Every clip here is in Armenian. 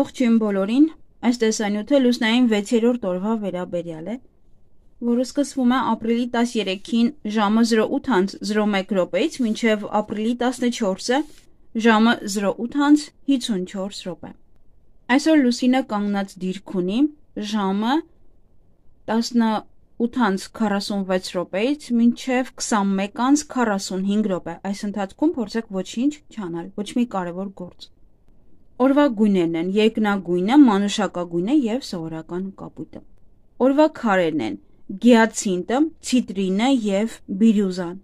Ողջույն բոլորին, այս տեսանյութը լուսնային 6-րդ օրվա վերաբերյալ է, որը սկսվում է ապրիլի 13-ին ժամը 08:01-ից մինչև ապրիլի 14-ը ժամը 08:54։ Այսօր լուսինը կանգնած դիրք ունի ժամը 18:46-ից մինչև 21:45, այս ընթացքում փորձեք ոչինչ չանել, ոչ մի կարևոր գործ։ Օրվա գույներն են երկնագույնը, մանուշակագույնը և սովորական կապույտը։ Օրվա քարերն են գիացինտը, ցիտրինը և բիրյուզան։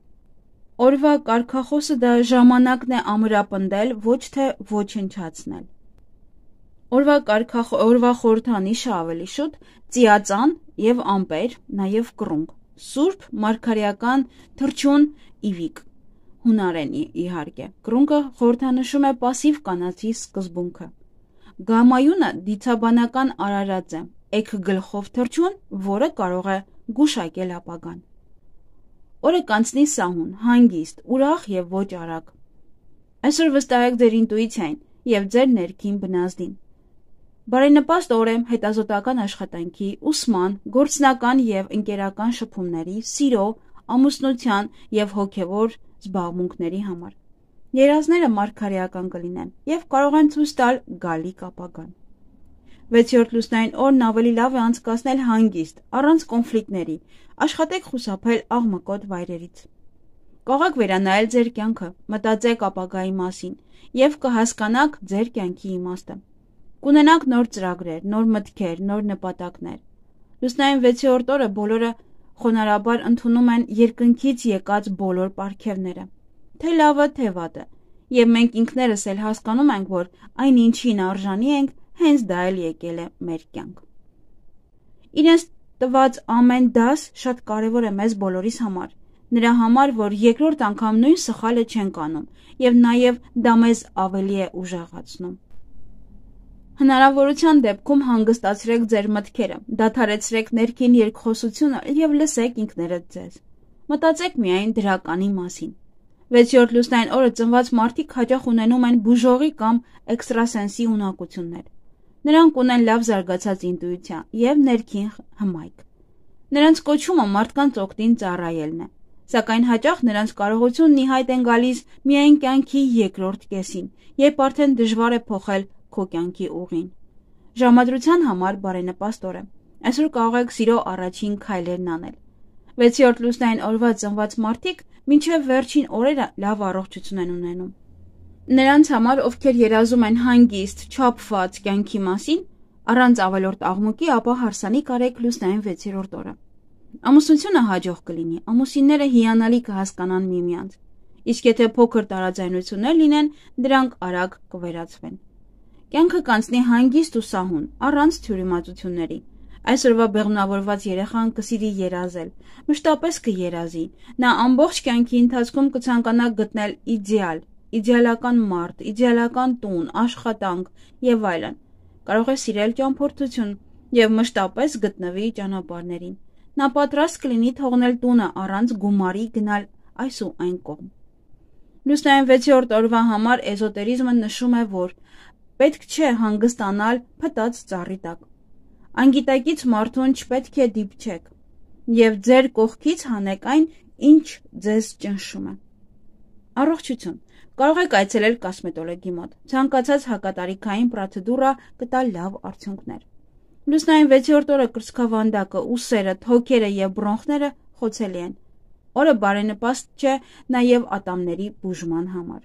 Օրվա կարգախոսը դա ժամանակն է ամրապնդել, ոչ թե ոչնչացնել։ Օրվա խորհրդանիշը ավելի շուտ ծիածան և ամպեր, նաև կռունկ, սուրբ մարգարեական թռչուն իվիկ, հունարեն իհարկե, կռունկը խորհրդանշում է պասիվ կանացի սկզբունքը։ Գամայունը դիցաբանական արարած է, էգ գլխով թռչուն, որը կարող է գուշակել ապագան։ Օրը կանցնի սահուն, հանգիստ, ուրախ և ոչ արագ։ Այսօր վստահեք ձեր ինտուիցիային և ձեր ներքին բնազդին։ Բարենպաստ օր է հետազոտական աշխատանքի, ուսման, գործնական և ընկերական շփումների, սիրո, ամուսնության և հոգևոր զբաղմունքների համար։ Երազները մարգարեական կլինեն և կարող են ցույց տալ գալիք ապագան։ 6-րդ լուսնային օրն ավելի լավ է անցկացնել հանգիստ, առանց կոնֆլիկտների, աշխատեք խուսափել աղմկոտ վայրերից։ Կարող եք վերանայել ձեր կյանքը, մտածեք ապագայի մասին և կհասկանաք ձեր կյանքի իմաստը։ Կունենաք նոր ծրագրեր, նոր մտքեր, նոր նպատակներ։ Լուսնային 6-րդ օրը բոլորը խոնարհաբար ընդունում են երկնքից եկած բոլոր պարգևները, թե լավը, թե վատը, և մենք ինքներս էլ հասկանում ենք, որ այն ինչին արժանի ենք, հենց դա էլ եկել է մեր կյանք։ Իրենց տված ամեն դաս շատ կարևոր է մեզ բոլորիս համար, նրա համար, որ երկրորդ անգամ նույն սխալը չենք անում և նաև դա մեզ ավելի է ուժեղացնում։ Հնարավորության դեպքում հանգստացրեք ձեր մտքերը, դադարեցրեք ներքին երկխոսությունը և լսեք ինքներդ ձեզ։ Մտածեք միայն դրականի մասին։ 6-րդ լուսնային օրը ծնված մարդիկ հաճախ ունենում են բուժողի կամ էքստրասենսի ունակություններ։ Նրանք ունեն լավ զարգացած ինտուիցիա և ներքին հմայք։ Նրանց կոչումը մարդկանց օգտին ծառայելն է, սակայն հաճախ նրանց կարողությունն ի հայտ են գալիս միայն կյանքի երկրորդ կեսին, երբ արդեն դժվար է փոխել քո կյանքի ուղին։ Ժամադրության համար բարենպաստ օր է։ Այսօր կարող եք սիրո առաջին քայլերն անել։ 6-րդ լուսնային օրվա ծնված մարդիկ մինչև վերջին օրերը լավ առողջություն են ունենում։ Նրանց համար, ովքեր երազում են հանգիստ, չափված կյանքի մասին, առանց ավելորդ աղմուկի, ապա հարսանիք արեք լուսնային 6-րդ օրը։ Ամուսնությունը հաջող կլինի, ամուսինները հիանալի կհասկանան միմյանց, իսկ եթե փոքր տարաձայնություններ լինեն, դրանք արագ կվերացվեն։ Կյանքը կանցնի հանգիստ ու սահուն, առանց թյուրիմացությունների։ Այսօրվա բեղմնավորված երեխան կսիրի երազել, մշտապես կերազի, նա ամբողջ կյանքի ընթացքում կցանկանա գտնել իդեալական մարդ, իդեալական տուն, աշխատանք և այլն։ Կարող է սիրել ճամփորդություն և մշտապես գտնվի ճանապարհներին։ Նա պատրաստ կլինի թողնել տունը առանց գումարի գնալ այս ու այն կողմ։ Լուսնային 6-րդ օրվա համար էզոտերիզմը նշում է, որ պետք չէ հանգստանալ փտած ծառի տակ։ Անգիտակից մարդուն չպետք է դիպչեք և ձեր կողքից հանեք այն, ինչ ձեզ ճնշում է։ Առողջություն։ Կարող եք այցելել կոսմետոլոգի մոտ։ Ցանկացած հակատարիքային պրոցեդուրա կտա լավ արդյունքներ։ Լուսնային 6-րդ օրը կրծքավանդակը, ուսերը, թոքերը և բրոնխները խոցելի են։ Օրը բարենպաստ չէ նաև ատամների բուժման համար։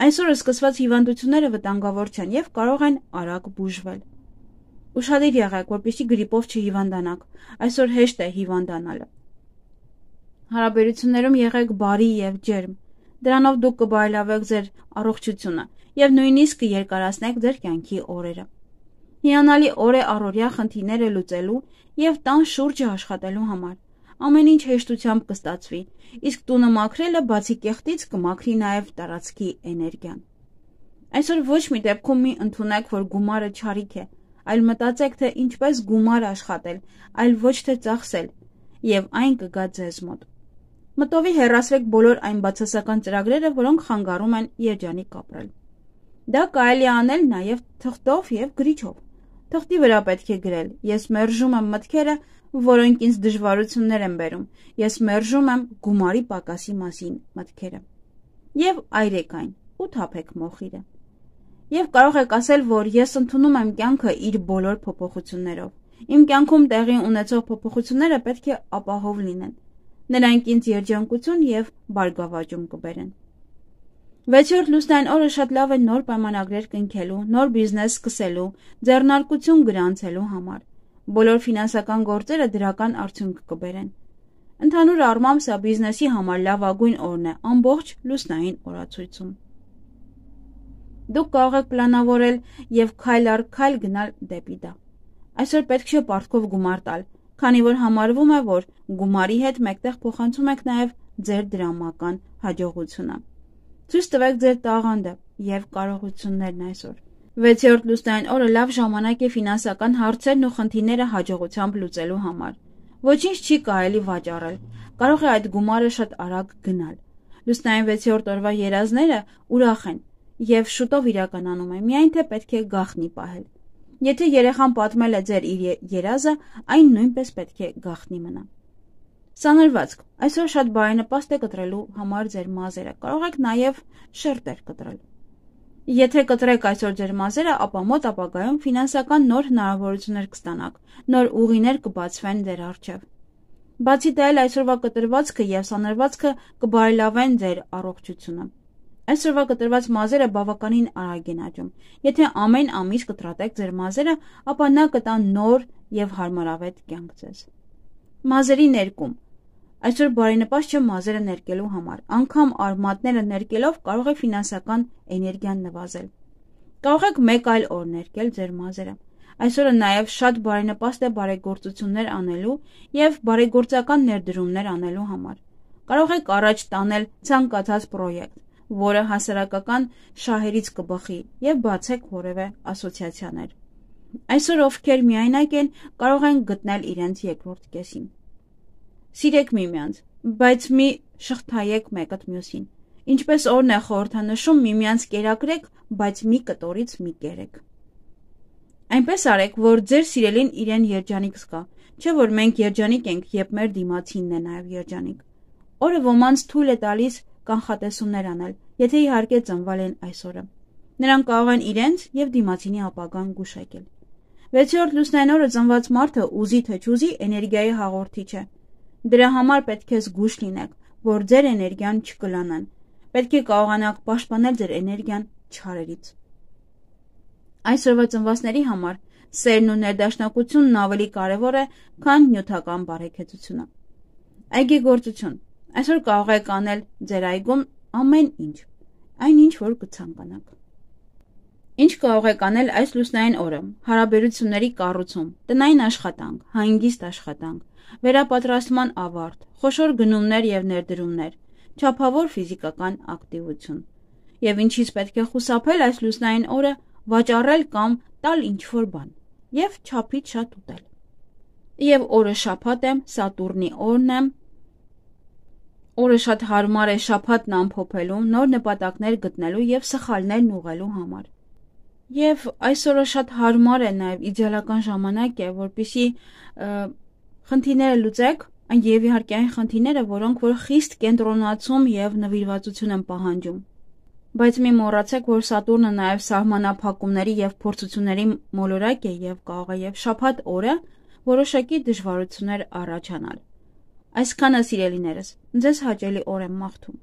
Այսօրը սկսված հիվանդությունները վտանգավոր չեն և կարող են արագ բուժվել։ Ուշադիր եղեք, որպեսզի գրիպով չհիվանդանաք։ Այսօր հեշտ է հիվանդանալը։ Հարաբերություններում եղեք բարի և ջերմ։ Դրանով դուք կբարելավեք ձեր առողջությունը և նույնիսկ կերկարացնեք ձեր կյանքի օրերը։ Հիանալի օր է առօրյա խնդիրները լուծելու և տան շուրջը աշխատելու համար։ Ամեն ինչ հեշտությամբ կստացվի, իսկ տունը մաքրելը բացի կեղտից կմաքրի նաև տարածքի էներգիան։ Այսօր ոչ մի դեպքում մի ընդունեք, որ գումարը չարիք է, այլ մտածեք, թե ինչպես գումար աշխատել, այլ ոչ թե ծախսել, և այն կգա ձեզ մոտ։ Մտովի հեռացրեք բոլոր այն բացասական ծրագրերը, որոնք խանգարում են երջանիկ ապրել։ Դա կարելի է անել նաև թղթով և գրիչով։ Թղթի վրա պետք է գրել. ես մերժում եմ մտքերը, որոնք ինձ դժվարություններ են բերում, ես մերժում եմ գումարի պակասի մասին մտքերը։ Եվ այրեք այն ու թափեք մոխիրը։ Եվ կարող եք ասել, որ ես ընդունում եմ կյանքը իր բոլոր փոփոխություններով։ Իմ կյանքում տեղի ունեցող փոփոխությունները պետք է ապահով լինեն։ Նրանք ինձ երջանկություն և բարգավաճում կբերեն։ 6-րդ լուսնային օրը շատ լավ է նոր պայմանագրեր կնքելու, նոր բիզնես սկսելու, ձեռնարկություն գրանցելու համար։ Բոլոր ֆինանսական գործերը դրական արդյունք կբերեն։ Ընդհանուր առմամբ սա բիզնեսի համար լավագույն օրն է ամբողջ լուսնային օրացույցում։ Դուք կարող եք պլանավորել և քայլ առ քայլ գնալ դեպի դա։ Այսօր պետք չէ պարտքով գումար տալ, քանի որ համարվում է, որ գումարի հետ մեկտեղ փոխանցում եք նաև ձեր դրամական հաջողությունը։ Ցույց տվեք ձեր տաղանդը և կարողություններն այսօր։ 6-րդ լուսնային օրը լավ ժամանակ է ֆինանսական հարցերն ու խնդիրները հաջողությամբ լուծելու համար։ Ոչինչ չի կարելի վաճառել, կարող է այդ գումարը շատ արագ գնալ։ Լուսնային 6-րդ օրվա երազները ուրախ են և շուտով իրականանում են, միայն թե պետք է գաղտնի պահել։ Եթե երեխան պատմել է ձեր իր երազը, այն նույնպես պետք է գաղտնի մնա։ Սանրվածք, այսօր շատ բարենպաստ է կտրելու համար ձեր մազերը, կարող եք նաև շերտեր կտրել։ Եթե կտրեք այսօր ձեր մազերը, ապա մոտ ապագայում ֆինանսական նոր հնարավորություններ կստանաք, նոր ուղիներ կբացվեն ձեր առջև։ Բացի դա էլ այսօրվա կտրվածքը և սանրվածքը կբարելավեն ձեր առողջությունը։ Այսօրվա կտրված մազերը բավականին արագ են աճում։ Եթե ամեն ամիս կտրատեք ձեր մազերը, ապա նա կտա նոր և հարմարավետ կյանք ձեզ։ Մազերի ներկում։ Այսօր բարենպաստ չէ մազերը ներկելու համար, անգամ արմատները ներկելով կարող է ֆինանսական էներգիան նվազել։ Կարող եք մեկ այլ օր ներկել ձեր մազերը։ Այսօրը նաև շատ բարենպաստ է բարեգործություններ անելու և բարեգործական ներդրումներ անելու համար։ Կարող եք առաջ տանել ցանկացած պրոյեկտ, որը հասարակական շահերից կբխի և բացեք որևէ ասոցիացիաներ։ Այսօր ովքեր միայնակ են, կարող են գտնել իրենց երկրորդ կեսին։ Սիրեք միմյանց, բայց մի շղթայեք մեկըդ մյուսին։ Ինչպես օրն է խորհրդանշում, միմյանց կերակրեք, բայց մի կտորից մի կերեք։ Այնպես արեք, որ ձեր սիրելին իրեն երջանիկ զգա, չէ որ մենք երջանիկ ենք, երբ մեր դիմացինն է նաև երջանիկ։ Օրը ոմանց թույլ է տալիս կանխատեսումներ անել, եթե իհարկե ծնվել են այսօրը։ Նրանք կարող են իրենց և դիմացինի ապագան գուշակել։ 6-րդ լուսնային օրը ծնված մարդը ուզի թե չուզի էներգիայի հաղորդիչ է։ Դրա համար պետք է զգույշ լինեք, որ ձեր էներգիան չկլանան։ Պետք է կարողանաք պաշտպանել ձեր էներգիան չարերից։ Այսօրվա ծնվածների համար սերն ու ներդաշնակությունն ավելի կարևոր է, քան նյութական բարեկեցությունը։ Այգեգործություն։ Այսօր կարող եք անել ձեր այգում ամեն ինչ, այնինչ որ կցանկանաք։ Ինչ կարող եք անել այս լուսնային օրը։ Հարաբերությունների կառուցում, տնային աշխատանք, հանգիստ աշխատանք, վերապատրաստման ավարտ, խոշոր գնումներ և ներդրումներ, չափավոր ֆիզիկական ակտիվություն։ Եվ ինչից պետք է խուսափել այս լուսնային օրը, վաճառել կամ տալ ինչ-որ բան, և չափից շատ ուտել։ Եվ օրը շաբաթ է, Սատուրնի օրն է, օրը շատ հարմար է շաբաթն ամփոփելու, նոր նպատակներ գտնելու և սխալներն ուղղելու համար։ Եվ այսօրը շատ հարմար է նաև իդեալական ժամանակ է, որպեսզի խնդիրները լուծեք, եւ իհարկե այն խնդիրները, որոնք որ խիստ կենտրոնացում եւ նվիրվածություն են պահանջում։ Բայց մի մոռացեք, որ Սատուրնը նաև սահմանափակումների եւ փորձությունների մոլորակ է եւ կարող է եւ շաբաթ օրը որոշակի դժվարություններ առաջանալ։ Այսքանը սիրելիներս, ձեզ հաճելի օր եմ մաղթում։